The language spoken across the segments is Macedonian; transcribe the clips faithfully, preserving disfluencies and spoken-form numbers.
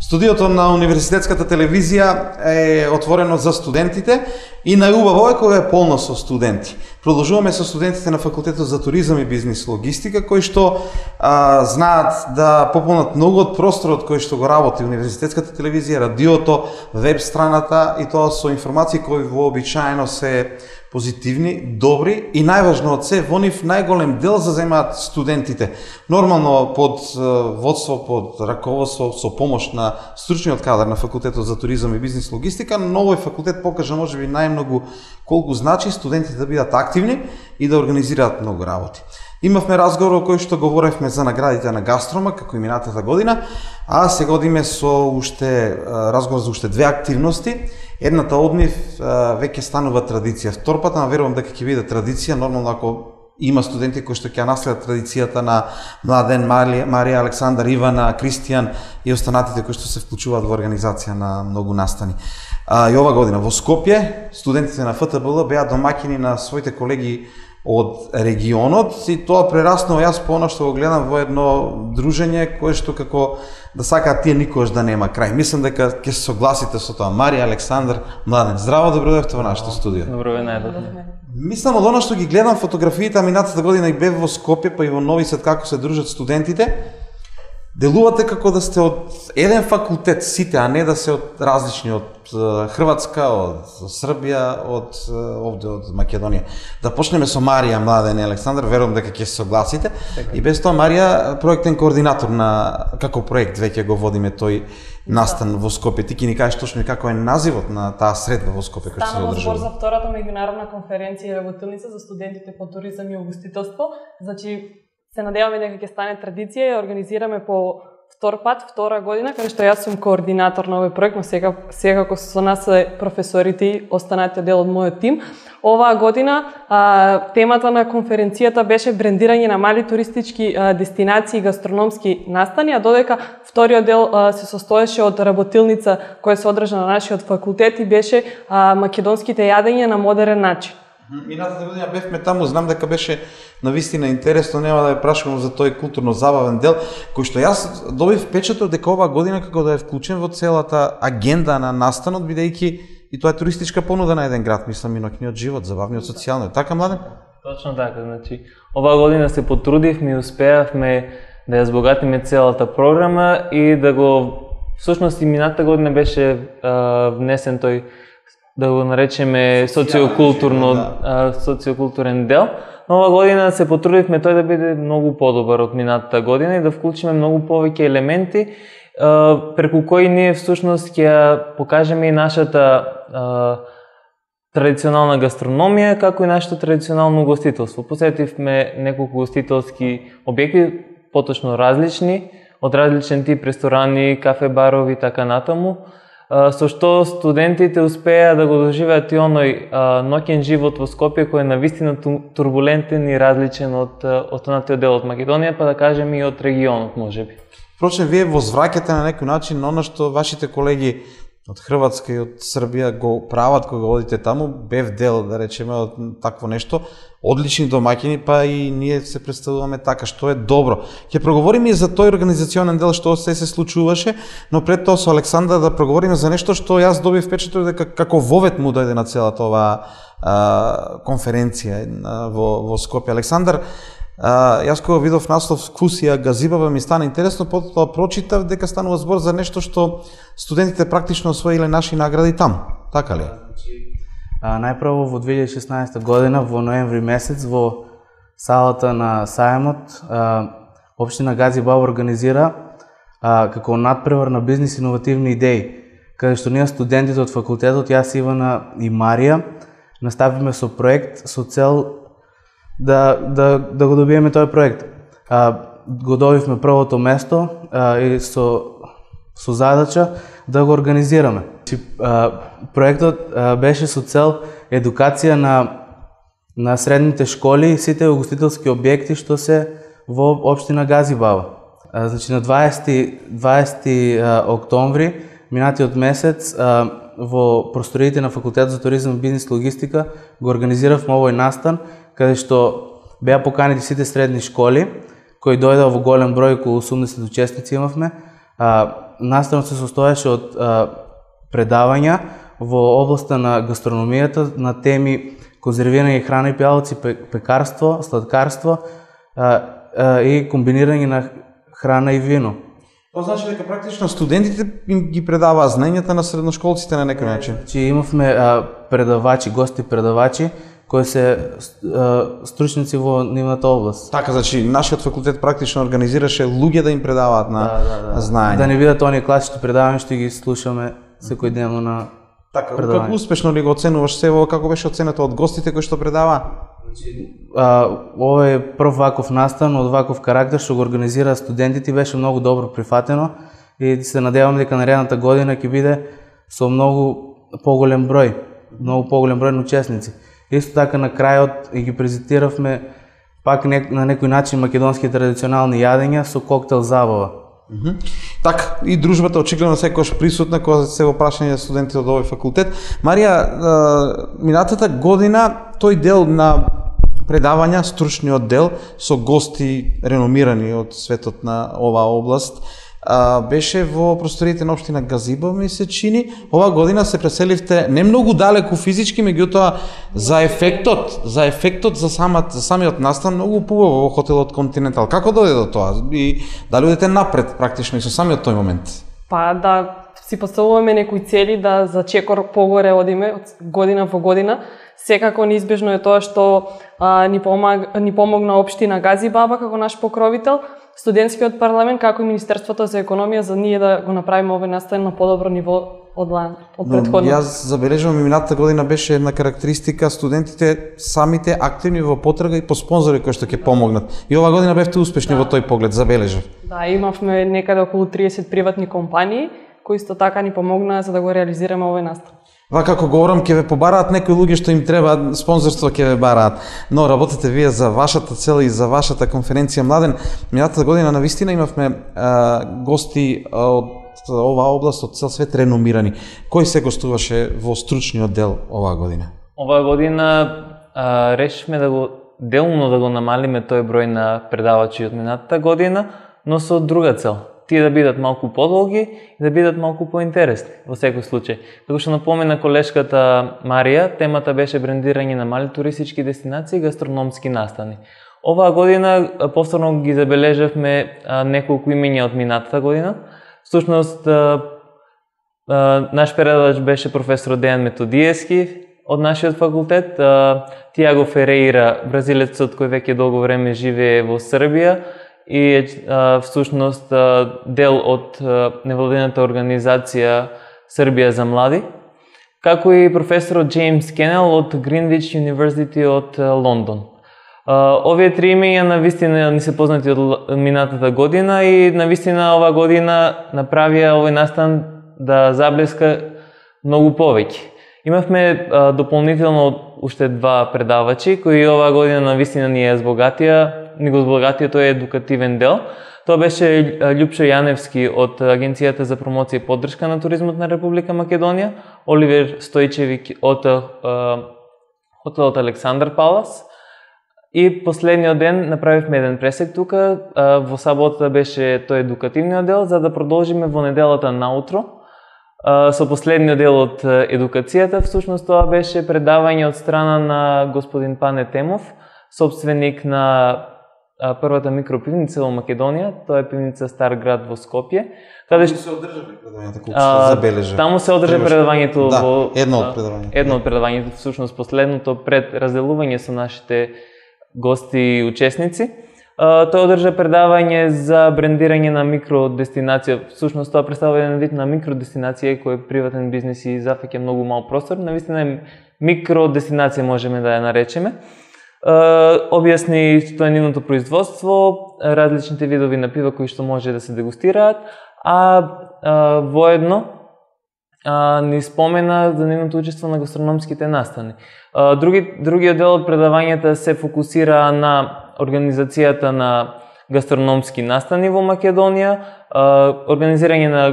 Студиото на Универзитетската телевизија е отворено за студентите и најубаво е кога е полно со студенти. Продолжуваме со студентите на Факултетот за туризам и бизнис логистика, кои што а, знаат да пополнат многу од просторот кој што го работи Универзитетската телевизија, радиото, веб страната, и тоа со информации кои вообичаено се позитивни, добри и најважно од се, во нив најголем дел заземаат студентите. Нормално под водство, под раководство, со помош на стручниот кадар на Факултетот за туризам и бизнис логистика, но овој факултет покажа можеби најмногу колку значи студентите да бидат активни и да организираат многу работи. Имавме разговор во кој што говоревме за наградите на Гастрома како и минатата година, а сега одиме со уште разговор за уште две активности. Едната од нив веќе станува традиција. Вторпата, верувам дека ќе биде традиција, нормално ако има студенти кои што ќе наследат традицијата на Младен, Марија, Марија, Александар, Ивана, Кристијан и останатите кои што се вклучуваат во организација на многу настани. А, и ова година во Скопје студентите на Ф Т Б Л беа домаќини на своите колеги од регионот и тоа прераснува, јас по она што го гледам, во едно дружење кое што како да сакаат тие никогаш да нема крај. Мислам дека ќе се согласите со тоа. Марија, Александар, Младен, здраво, добро дојдовте во нашето студио. Добро ве најдов. Мислам од она што ги гледам фотографиите, минатата година и бев во Скопје, па и во Нови Сад како се дружат студентите. Делувате како да сте од еден факултет сите, а не да се од различни, од Хрватска, од Србија, од овде од Македонија. Да почнеме со Марија, Младен и Александар, верувам дека ќе се согласите. Така. И без тоа Марија, проектен координатор на како проект веќе го водиме тој настан во Скопје. Ти ќе ни кажеш точно како е називот на таа средба во Скопје која се одржува. Станува збор за втората меѓународна конференција и работилница за студентите по туризам и угостителство. Значи се надеваме дека ќе стане традиција и ја организираме по втор пат, втора година, каде што јас сум координатор на овој проект, но сега секако со нас се професорите и останатиот дел од мојот тим. Оваа година а, темата на конференцијата беше брендирање на мали туристички а, дестинации и гастрономски настани, а додека вториот дел а, се состоеше од работилница која се одржа на нашиот факултет и беше а, македонските јадења на модерен начин. Минатата година бевме таму, знам дека беше навистина интересно, нема да ја прашувам за тој културно-забавен дел, кој што јас добив впечаток дека оваа година како да е вклучен во целата агенда на настанот, бидејќи и тоа е туристичка понуда на еден град, мислам и ноќниот живот, забавниот, социјалниот. Така, Младен? Точно така, значи, оваа година се потрудивме и успеавме да ја збогатиме целата програма и да го, всушност и минатата година беше а, внесен тој, да го наречеме социокултурно, да. социокултурен дел. Но оваа година се потрудивме тој да биде многу подобар од минатата година и да вклучиме многу повеќе елементи, преку кои ние всушност ќе покажеме и нашата а, традиционална гастрономија, како и нашето традиционално угостителство. Посетивме неколку угостителски објекти, поточно различни, од различен тип ресторани, кафе, барови и така натаму, со што студентите успеа да го доживеат и оној а, ноќен живот во Скопје кој е навистина турбулентен и различен од останатиот дел од Македонија, па да кажеме и од регионот можеби. Впрочем, вие возвраќате на некој начин на она што вашите колеги од Хрватска и од Србија го прават кога одите таму, бев дел, да речеме, од такво нешто, одлични домаќини, па и ние се представуваме така, што е добро. Ќе проговориме и за тој организационен дел што се се случуваше, но пред тоа со Александар да проговориме за нешто што јас добив впечаток дека како вовет му дојде на целата оваа конференција а, во, во Скопје. Александар, а, јас кога видов наслов Вкусија газибава ми стана интересно, потоа прочитав дека станува збор за нешто што студентите практично освоиле наши награди таму. Така ли? А, најпрво во две илјади и шеснаесета година, во ноември месец, во салата на Сајмот, а, општина Газибаба организира а, како надпревар на бизнис иновативни идеи, каде што ние студентите од факултетот, јас, Ивана и Марија, наставивме со проект со цел да, да, да го добиеме тој проект. А, го добивме првото место а, и со, со задача да го организираме. А, проектот а, беше со цел едукација на, на средните школи и сите угостителски објекти што се во општина Газибаба. А, значи на дваесети октомври минатиот месец а, во просториите на Факултетот за туризам и бизнис логистика го организиравме овој настан, каде што беа поканети сите средни школи, кои дојдоа во голем број, околу осумдесет учесници имавме. А, наставот се состоеше од а, предавања во областа на гастрономијата на теми конзервирани храна и пијалаци, пекарство, сладкарство а, а, и комбинирање на храна и вино. Тоа значи дека практично студентите им ги предаваа знаењата на средношколците на некој начин. Значи имавме а, предавачи, гости предавачи кои се а, стручници во нивната област. Така, значи нашиот факултет практично организираше луѓе да им предаваат на Да, да, да. знаење. Да не бидат оние класични предавања што ги слушаме секојдневно на Така, предавање. како успешно ли го оценуваш сево, како беше оценета од гостите кои што предаваа? А, ова е прв ваков настан од ваков карактер што го организира студентите и беше многу добро прифатено и се надевам дека наредната година ќе биде со многу поголем број, многу поголем број на учесници. Исто така на крајот и ги презентиравме пак не, на некој начин македонски традиционални јадења со коктел забава. Mm -hmm. Така, и дружбата очигледно секогаш присутна кога се во прашање на студенти од овој факултет. Марија, минатата година тој дел на предавања, стручниот дел со гости реномирани од светот на оваа област, беше во просториите на општина Газиба, ми се чини. Ова година се преселивте не многу далеку физички, меѓутоа за ефектот, за ефектот за самат за самиот настан многу побаво во хотелот Континентал. Како дојде до тоа? И дали одите напред практично и со самиот тој момент? Па да си поставуваме некои цели да за чекор погоре одиме од година во година. Секако неизбежно е тоа што а, ни, помаг, ни помогна општина Газибаба како наш покровител, студентскиот парламент, како и Министерството за економија, за ние да го направиме овој настан на подобро ниво од лан, од претходно. Јас забележувам и минатата година беше една карактеристика студентите самите активни во потрага и по спонзори кои што ќе помогнат. И ова година бевте успешни да. Во тој поглед, забележав. Да, имавме некаде околу триесет приватни компании кои исто така ни помогнаа за да го реализираме овој настан. Вака како говорам, ќе ве побараат некои луѓе што им треба спонзорство, ќе ве бараат. Но работите вие за вашата цел и за вашата конференција Младен. Минатата година навистина имавме а, гости од оваа област од цел свет реномирани. Кој се гостуваше во стручниот дел оваа година? Оваа година а, решивме да го делно да го намалиме тој број на предавачи од минатата година, но со друга цел. Тие да бидат малку подолги и да бидат малку поинтересни во секој случај. Како што напомена колешката Марија, темата беше брендирање на мали туристички дестинации и гастрономски настани. Оваа година повторно ги забележавме неколку имиња од минатата година. Всушност, наш предавач беше професор Дејан Методиевски од нашиот факултет, Тиаго Ферейра, бразилецот кој веќе долго време живее во Србија, и а, всушност а, дел од а, невладината организација Србија за млади, како и професорот Джеймс Кенел од Гринвич University од а, Лондон. А, овие три имења навистина ни се познати од минатата година и навистина оваа година направија овој настан да заблеска многу повеќе. Имавме а, дополнително уште два предавачи кои оваа година навистина ни ја збогатија ни го збогатија тој едукативен дел. Тоа беше Љупшо Јаневски од Агенцијата за промоција и поддршка на туризмот на Република Македонија, Оливер Стојчевик од хотелот Александар Палас. И последниот ден направивме еден пресек тука, во сабота беше тој едукативниот дел, за да продолжиме во неделата наутро со последниот дел од едукацијата. Всушност тоа беше предавање од страна на господин Пане Темов, собственик на првата микропивница во Македонија, тоа е пивница Стар град во Скопје. Каде што се одржале предавањето, колку што забележа? Таму се одржа предавањето да, во едно од предавањето. Едно од предавањето, всушност последното пред разделување со нашите гости и учесници. Тој одржа предавање за брендирање на микродестинација. Всушност тоа представува еден вид на микродестинација кој е приватен бизнис и зафаќа многу мал простор. Навистина е микродестинација можеме да ја наречеме. Објасни што е нивното производство, различните видови на пива кои што може да се дегустираат, а, а воедно а, ни спомена за нивното учество на гастрономските настани. А, други, другиот дел од предавањата се фокусира на организацијата на гастрономски настани во Македонија, а, организирање на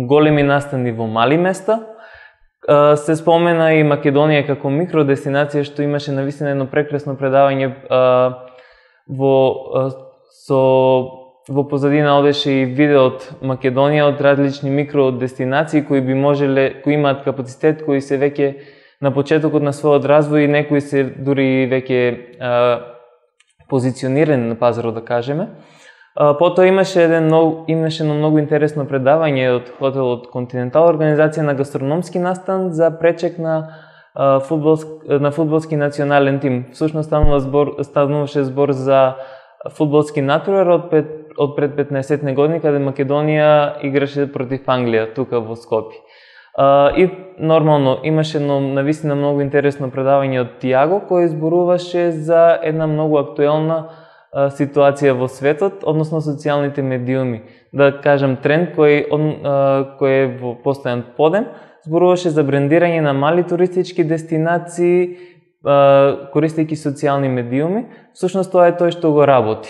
големи настани во мали места. Се спомена и Македонија како микродестинација, што имаше навистина едно прекрасно предавање а, во а, со во позадина одеше и видео од Македонија, од различни микродестинации кои би можеле, кои имаат капацитет, кои се веќе на почетокот на својот развој и некои се дури веќе а, позиционирани на пазарот, да кажеме. А, потоа имаше еден многу, имаше едно многу интересно предавање од хотелот Континентал, организација на гастрономски настан за пречек на а, фудбалски, на фудбалски национален тим. Всушност станува збор, стануваше збор за фудбалски натпревар од пред од пред петнаесет години, каде Македонија играше против Англија тука во Скопје. Uh, и нормално имаше едно навистина многу интересно предавање од Тиаго кој зборуваше за една многу актуелна uh, ситуација во светот, односно социјалните медиуми. Да кажам тренд кој, uh, кој е во постојан подем, зборуваше за брендирање на мали туристички дестинации uh, користејќи социјални медиуми. Всушност тоа е тој што го работи.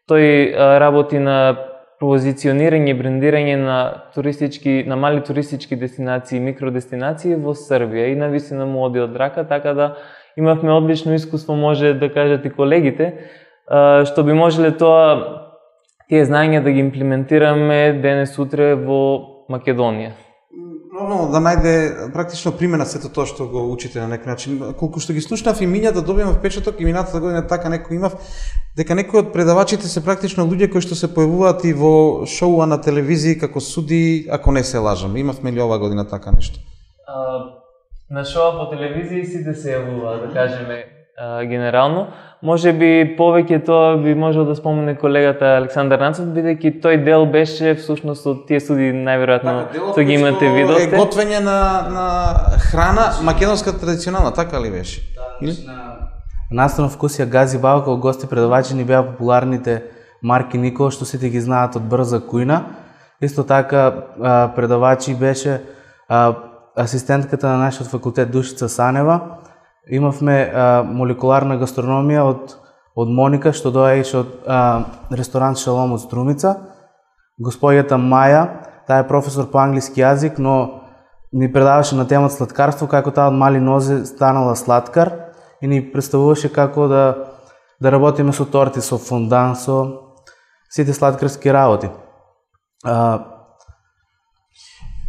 Тој uh, работи на позиционирање и брендирање на туристички, на мали туристички дестинации, микродестинации во Србија и навистина му оди од рака, така да имавме одлично искуство, може да кажат и колегите, што би можеле тоа тие знаења да ги имплементираме денес утре во Македонија. Нормално да најде практично примена сето тоа што го учите на некој начин. Колку што ги слушнав и миња да добијам впечаток и минатата година така некој имав дека некои од предавачите се практично луѓе кои што се појавуваат и во шоуа на телевизија како суди, ако не се лажам. Имавме ли оваа година така нешто? А, на шоуа по телевизија сите се јавуваат, да кажеме, а, генерално. Може би повеќе тоа би можел да спомене колегата Александар Нанцов, бидејќи тој дел беше всушност од тие суди најверојатно тоа ги имате видовте. Е готвење на на храна македонска традиционална, така ли беше? Да, на Настанов вкусија Гази Баба како гости предавачи ни беа популарните Марки Никола, што сите ги знаат од Брза кујна. Исто така предавачи беше асистентката на нашиот факултет Душица Санева. Имавме а, молекуларна гастрономија од, од Моника, што доаѓаше од а, ресторант Шалом од Струмица. Господјата Маја, таа е професор по англиски јазик, но ни предаваше на темата сладкарство, како таа од мали нозе станала сладкар и ни представуваше како да, да работиме со торти, со фондан, со сите сладкарски работи. А,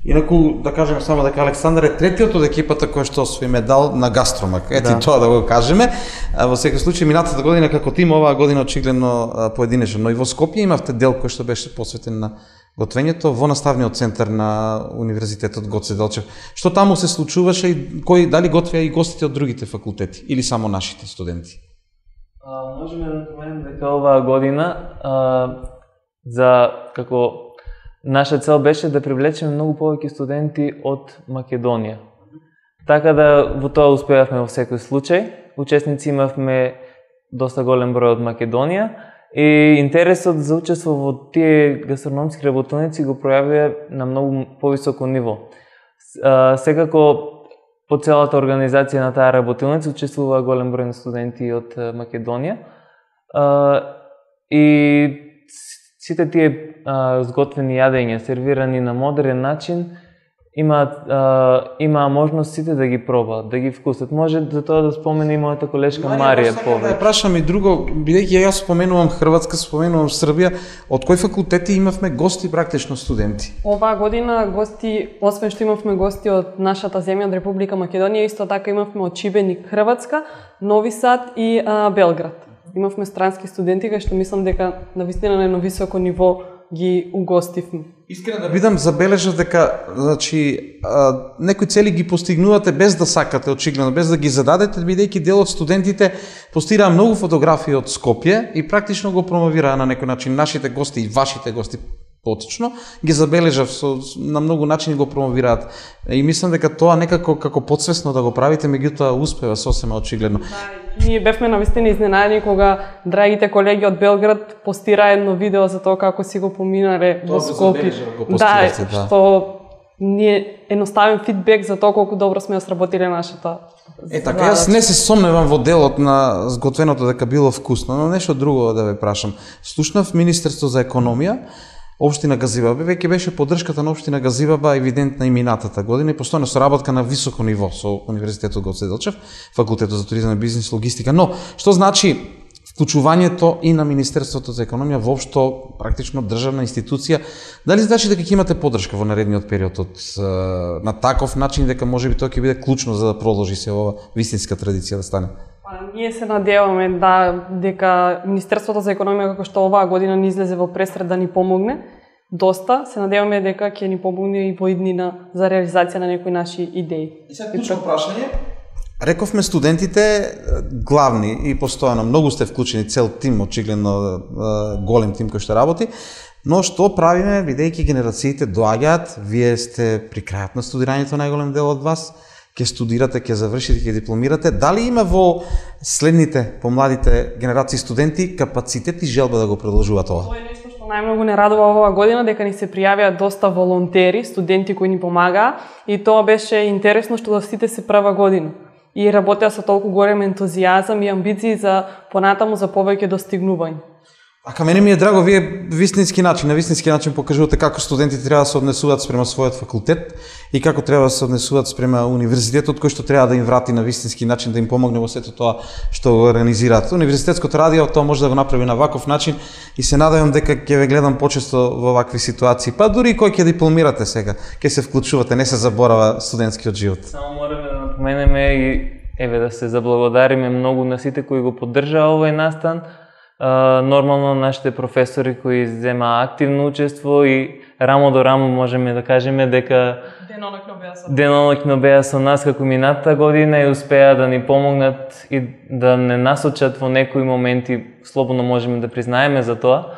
Инаку, да кажеме само дека Александар е третиот од екипата кој што освои медал на Гастромак. Ето да. Тоа да го кажеме. Во секој случај, минатата година како тим, оваа година очигледно поединечно. Но и во Скопје имавте дел кој што беше посветен на готвењето во наставниот центар на Универзитетот Гоце Делчев. Што таму се случуваше и кои дали готвеа и гостите од другите факултети или само нашите студенти? А, можеме да напоменеме дека оваа година а, за како наша цел беше да привлечеме многу повеќе студенти од Македонија. Така да во тоа успеавме во секој случај. Учесници имавме доста голем број од Македонија и интересот за учество во тие гастрономски работилници го пројавија на многу повисоко ниво. Секако по целата организација на таа работилница учествува голем број на студенти од Македонија и сите тие а, сготвени јадења, сервирани на модерен начин, имаат а, има можност сите да ги пробаат, да ги вкусат. Може за тоа да спомене и мојата колешка Марија повеќе. Да прашам и друго, бидејќи јас споменувам Хрватска, споменувам Србија, од кои факултети имавме гости практично студенти? Оваа година гости, освен што имавме гости од нашата земја, од Република Македонија, исто така имавме од Шибеник, Хрватска, Нови Сад и а, Белград. Имавме странски студенти, кај што мислам дека навистина на едно високо ниво ги угостивме. Искрено да бидам, забележав дека значи а, некои цели ги постигнувате без да сакате, очигледно, без да ги зададете, бидејќи дел од студентите постираа многу фотографии од Скопје и практично го промовираа на некој начин нашите гости и вашите гости поточно, ги забележав со, на многу начини го промовираат. И мислам дека тоа некако како подсвесно да го правите, меѓутоа успева сосема очигледно. Да, ние бевме навистина изненадени кога драгите колеги од Белград постираа едно видео за тоа како си го поминале во Скопје. Да, да, што ние едноставен фидбек за тоа колку добро сме ја сработиле нашата. Е така, јас не се сомневам во делот на сготвеното дека било вкусно, но нешто друго да ве прашам. Слушнав Министерство за економија, Општина Газибаба, веќе беше поддршката на Општина Газибаба евидентна и минатата година и постојано соработка на високо ниво со Универзитетот Гоце Делчев, Факултетот за туризам и бизнис логистика. Но, што значи вклучувањето и на Министерството за економија, воопшто практично државна институција, дали значи дека ќе имате поддршка во наредниот период од на таков начин дека можеби тоа ќе биде клучно за да продолжи се ова вистинска традиција да стане? Па, ние се надеваме да дека Министерството за економија, како што оваа година ни излезе во пресред да ни помогне доста, се надеваме дека ќе ни помогне и во иднина за реализација на некои наши идеи. И сега клучно прашање. Рековме студентите главни и постојано, многу сте вклучени, цел тим, очигледно голем тим кој што работи, но што правиме, бидејќи генерациите доаѓаат, вие сте при крајот на студирањето, најголем дел од вас, ќе студирате, ќе завршите, ќе дипломирате, дали има во следните помладите генерации студенти капацитет и желба да го продолжуваат ова? Тоа е нешто што најмногу не радува оваа година, дека ни се пријавија доста волонтери, студенти кои ни помагаа, и тоа беше интересно што сите се прва година и работеа со толку голем ентузијазам и амбиции за понатаму за повеќе достигнување. А ка мене ми е драго, вие вистински начин, на вистински начин покажувате како студентите треба да се однесуваат спрема својот факултет и како треба да се однесуваат спрема универзитетот кој што треба да им врати на вистински начин, да им помогне во сето тоа што го организираат. Универзитетското радио тоа може да го направи на ваков начин и се надевам дека ќе ве гледам почесто во вакви ситуации. Па дури кој ќе дипломирате сега, ќе се вклучувате, не се заборава студентскиот живот. Само мораме да напоменеме и еве да се заблагодариме многу на сите кои го поддржаа овој настан. Uh, нормално нашите професори кои зема активно учество и рамо до рамо можеме да кажеме дека денонокно беа со денонокно беа со нас како минатата година и успеа да ни помогнат и да не насочат во некои моменти, слободно можеме да признаеме за тоа,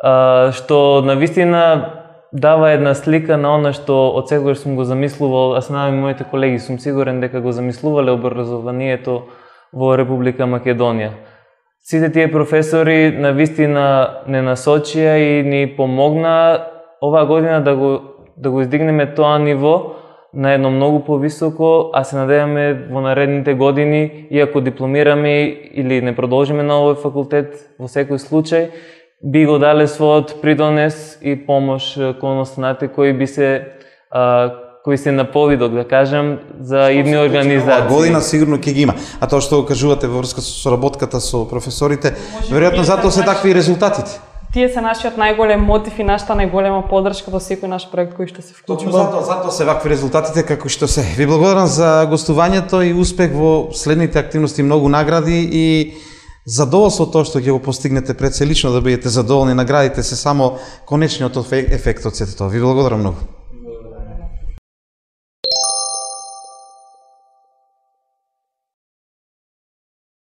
uh, што навистина дава една слика на она што од секогаш сум го замислувал, а се надевам и моите колеги, сум сигурен дека го замислувале образованието во Република Македонија. Сите тие професори навистина не насочија и ни помогна оваа година да го да го издигнеме тоа ниво на едно многу повисоко, а се надеваме во наредните години, иако дипломираме или не продолжиме на овој факултет, во секој случај би го дале својот придонес и помош кон останатите кои би се а, кои се на повидок, да кажам, за идни организации. Година сигурно ќе ги има. А тоа што го кажувате во врска со соработката со професорите, веројатно затоа се такви резултатите. Тие се нашиот најголем мотив и нашата најголема поддршка во секој наш проект кој што се вклучува. Точно затоа, затоа се вакви резултатите како што се. Ви благодарам за гостувањето и успех во следните активности, многу награди и задоволство тоа што ќе го постигнете пред се лично да бидете задоволни, наградите се само конечниот ефект од сето тоа. Ви благодарам многу.